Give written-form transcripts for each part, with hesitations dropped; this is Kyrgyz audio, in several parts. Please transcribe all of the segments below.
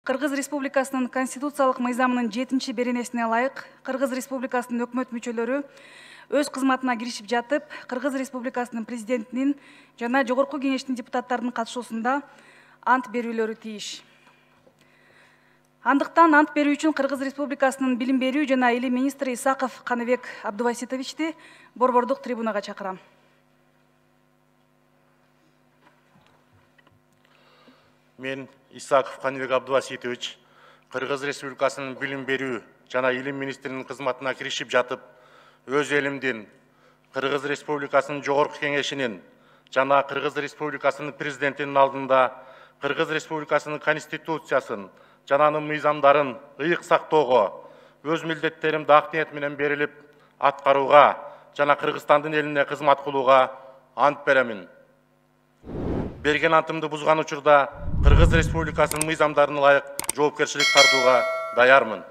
Кыргыз Республикасынын конституциялык мыйзамынын 7-беренесине ылайык Кыргыз Республикасынын өкмөт мүчөлөрү өз кызматына киришип жатып, Кыргыз Республикасынын президентинин жана Жогорку Кеңештин депутаттарынын катышуусунда ант берүүлөрү тийиш. Андыктан ант берүү үчүн Кыргыз Республикасынын билим берүү жана илим министри Исаков Каныбек Абдубаситовичти борбордук трибунага чакырам. Мен Исаков Каныбек Абдубаситович Кыргыз Республикасынын билим берүү жана илим министринин кызматына киришип жатып, өз элимдин Кыргыз Республикасынын Жогорку Кеңешинин жана Кыргыз Республикасынын президентинин алдында Кыргыз Республикасынын конституциясын жана анын мыйзамдарын ыйык сактоого, өз милдеттеримди ак ниет менен берилип аткарууга жана Кыргызстандын элине кызмат кылууга ант беремин. Берген антымды бузган учурда Кыргыз Республикасынын мыйзамдарына ылайык жоопкерчилик тартууга даярмын.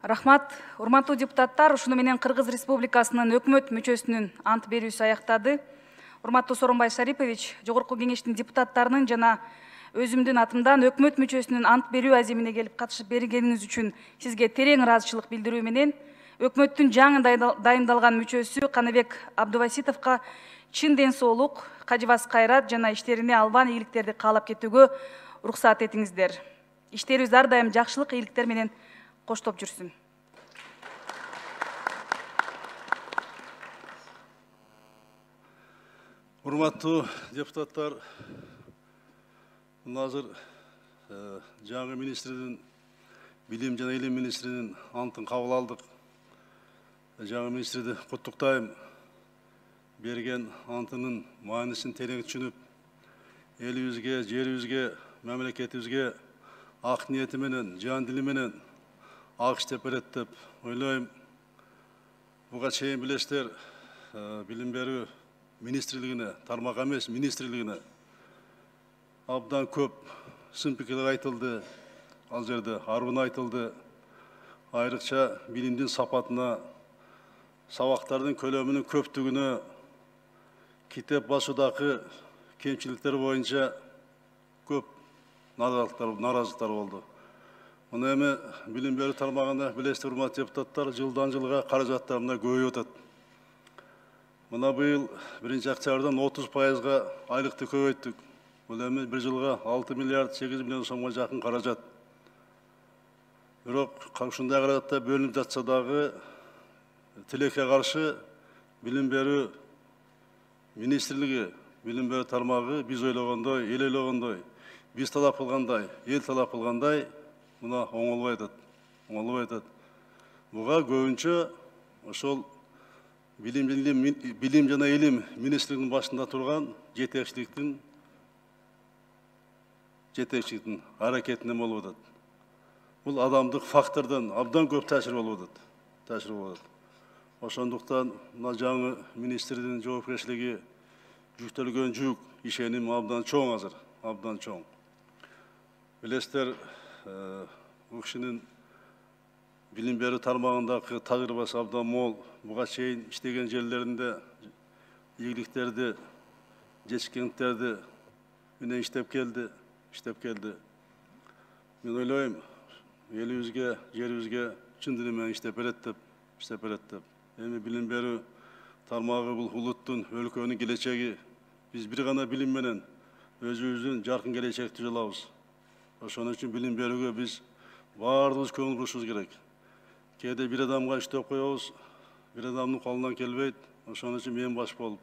Рахмат, урматтуу депутаттар, ушуну менен Кыргыз Республикасынын өкмөт мүчөсүнүн ант берүүсү аяктады. Урматтуу Сооронбай Шарипович, Жогорку Кеңештин депутаттарынын жана өзүмдүн атымдан өкмөт мүчөсүнүн ант берүү аземине келип катышып бергениңиз үчүн сизге терең ыраазычылык билдирүү менен өкмөттүн жаңы дайындалган мүчөсү Каныбек Абдубаситовго чын ден соолук, кажыбас кайрат жана иштерине албан ийгиликтерди каалап кетүүгө уруксат этиңиздер. Иштерибиз ар дайым жакшылык, ийгиликтер менен коштоп жүрсүн. Урматтуу депутаттар, азыр жаңы министрдин, билим жана илим министринин антын кабыл алдык. Жаңы министрди куттуктайм. Берген антынын маанисин терең түшүнүп, элибизге, жерибизге, мамлекетибизге ак ниети менен, жан дили менен ак иштеп берет деп ойлойм. Буга чейин билесиздер, билим берүү министрлигине, тармак эмес министрлигине абдан көп сын пикирлер айтылды. Ал жерде арбын айтылды. Айрыкча билимдин сапатына, сабактардын көлөмүнүн көптүгүнө, китеп басуудагы кемчиликтер боюнча көп наразылыктар болду. Мына эми билим берүү тармагында билесиздер, урматтуу депутаттар, жылдан жылга каражаттар мына көбөйүп атат. Мына быйыл 1-октябрдан 30%га айлыкты көбөйттүк. Бул эми bir жылга 6 миллиард 8 миллион сомго жакын каражат. Бирок ушундай каражатта бөлүнүп жатса дагы тилекке каршы билим берүү министрлиги, билим берүү тармагы биз ойлогондой, эл ойлогондой, биз талап кылгандай, эл талап кылгандай мына оңолбой атат. Буга көбүнчө ошол билим жана илим министрлигинин башында турган жетекчиликтин аракетинен болуп атат. Бул адамдык фактордон абдан көп таасир болуп атат. Ошондуктан мына жаңы министрдин жоопкерчилиги жүктөлгөн жүк, ишеним абдан чоң азыр, абдан чоң. Билесиздер, бул кишинин билим берүү тармагындагы тажрыйбасы абдан мол. Буга чейин иштеген жерлеринде ийгиликтерди, жетишкендиктерди менен иштеп келди. Мен ойлойм, элибизге, жерибизге чын дили менен иштеп берет деп. Эми билим берүү тармагы бул улуттун, өлкөнүн келечеги. Биз бир гана билим менен өзүбүздүн жаркын келечекти жылабыз. Ошон үчүн билим берүүгө биз баардыгыбыз көңүл бурушубуз керек. Кээде бир адамга иштеп коебуз, бир адамдын колунан келбейт. Ошон үчүн мен баш болуп,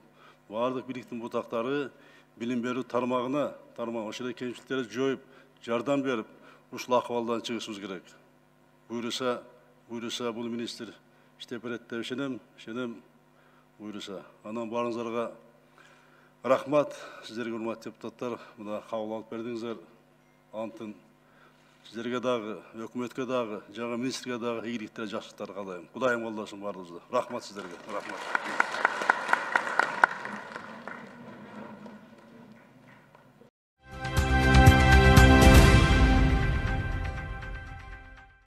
баардык бийликтин бутактары билим берүү тармагына, ошол кемчиликтерди жоюп, жардам берип, ушул акыбалдан чыгышыбыз керек. Буйруса бул министр иштеп берет деп ишенем, буйруса. Анан баарыңыздарга рахмат, сиздерге урматтуу депутаттар, мына кабыл алып бердиңиздер антын. Сиздерге дагы, өкмөткө дагы, жаңы министрге дагы ийгиликтер, жакшылыктар каалайм. Кудайым колдосун баарыбызды. Рахмат сиздерге. Рахмат.